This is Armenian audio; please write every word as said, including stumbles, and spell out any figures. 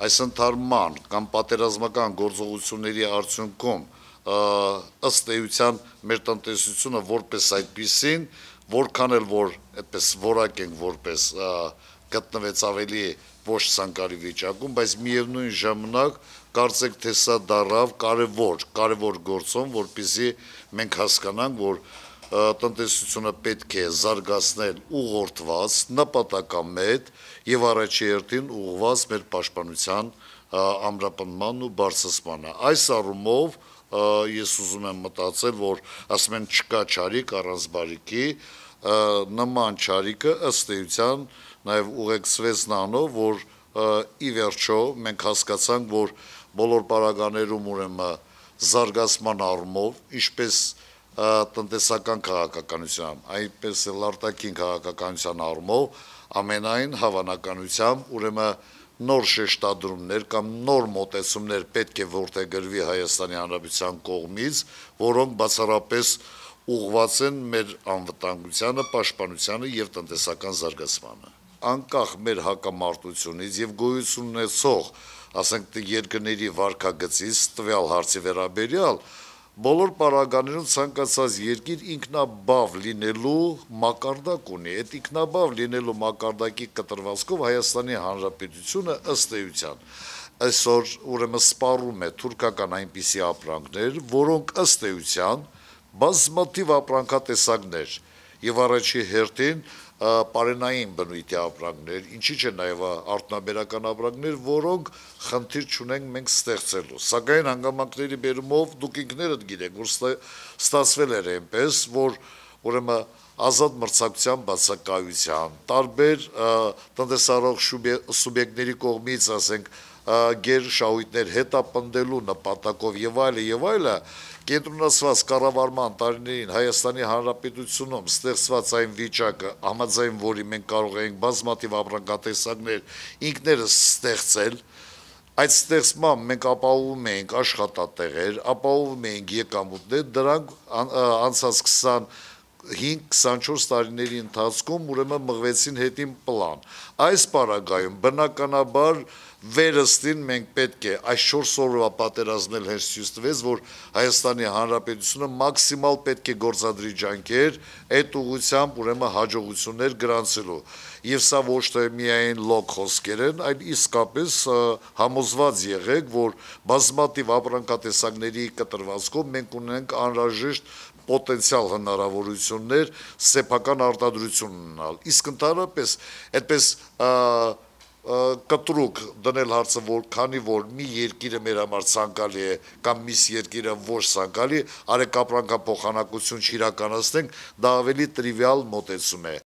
Այս ընդհարման կամ պատերազմական գործողությունների արդյունքում ըստ էության մեր տնտեսությունը որպես այդպիսին, որքան էլ որ այդպես որակ ենք որպես գտնվեց ավելի ոչ ցանկալի վիճակում, բայց միևնույն ժամանակ կարծեք թե սա դառավ կարևոր, կարևոր գործոն, որպեսզի մենք հասկանանք, որ տնտեսությունը պետք է զարգացնել ուղղորդված, նպատակամետ եւ առաջի հերթին ուղղված մեր պաշտպանության ամրապնդման ու բարձրացմանը։ Այս առումով ես ուզում եմ մտածել, որ ասում են չկա չարիք առանց բարիքի, նման չարիքը ըստ էության նաեւ ուղեկցվեց նրանով, որ ի վերջո մենք հասկացանք, որ բոլոր պարագաներում ուրեմն զարգացման առումով, ինչպես տնտեսական քաղաքականության, այնպես էլ արտաքին քաղաքականության առումով ամենայն հավանականությամբ ուրեմն նոր շեշտադրումներ կամ նոր մոտեցումներ պետք է որդեգրվի Հայաստանի Հանրապետության կողմից, որոնք բացառապես ուղղված են մեր անվտանգությանը, պաշտպանությանը եւ տնտեսական զարգացմանը։ Անկախ մեր հակամարտությունից եւ գոյություն ունեցող, ասենք երկրների վարքագծից տվյալ հարցի վերաբերյալ բոլոր պարագաներում ցանկացած երկիր ինքնաբավ լինելու մակարդակ ունի։ Այդ ինքնաբավ լինելու մակարդակի կտրվածքով Հայաստանի Հանրապետությունը ըստ էության այսօր ուրեմն սպառում է թուրքական այնպիսի ապրանքներ, որոնք ըստ էության բազմաթիվ ապրանքատեսակներ եւ առաջի հերթին պարենային բնույթի ապրանքներ, ինչի՞ չէ նաեւ արտոնաբերական ապրանքներ, որոնք խնդիր չունենք մենք ստեղծելու։ Սակայն հանգամանքների բերումով դուք ինքներդ գիտեք, որ ստացվել էր այնպես, որ ուրեմն ազատ մրցակցության բացակայության, տարբեր տնտեսարող սուբյեկտների կողմից, ասենք, գերշահույթներ հետապնդելու նպատակով եւ այլը եւ այլը կենտրոնացված կառավարման տարիներին Հայաստանի Հանրապետությունում ստեղծված այն վիճակը, համաձայն որի մենք կարող ենք բազմաթիվ ապրանքատեսակներ ինքներս ստեղծել, այդ ստեղծմամբ մենք ապահովում ենք աշխատատեղեր, ապահովում ենք եկամուտներ, դրանք անցած քսանհինգ քսանչորս տարիների ընթացքում ուրեմն մղվեցին հետին պլան։ Այս պարագայում բնականաբար վերստին մենք պետք է այս չորս օրվա պատերազմել հենց ցույց տվեց, որ Հայաստանի Հանրապետությունը մաքսիմալ պետք է գործադրի ջանքեր այդ ուղղությամբ ուրեմն հաջողություններ գրանցելու։ Եվ սա ոչ թե միայն լոկ խոսքեր են, այլ իսկապես համոզված եղեք, որ բազմաթիվ ապրանքատեսակների կտրվածքով մենք ունենք անհրաժեշտ պոտենցիալ հնարավորություններ սեփական արտադրություն ունենալ։ Իսկ ընդհանրապես այդպես կտրուկ դնել հարցը, որ քանի որ մի երկիրը մեր համար ցանկալի է կամ մյուս երկիրը ոչ ցանկալի, արեք ապրանքափոխանակություն չիրականացնենք, դա ավելի տրիվիալ մոտեցում է։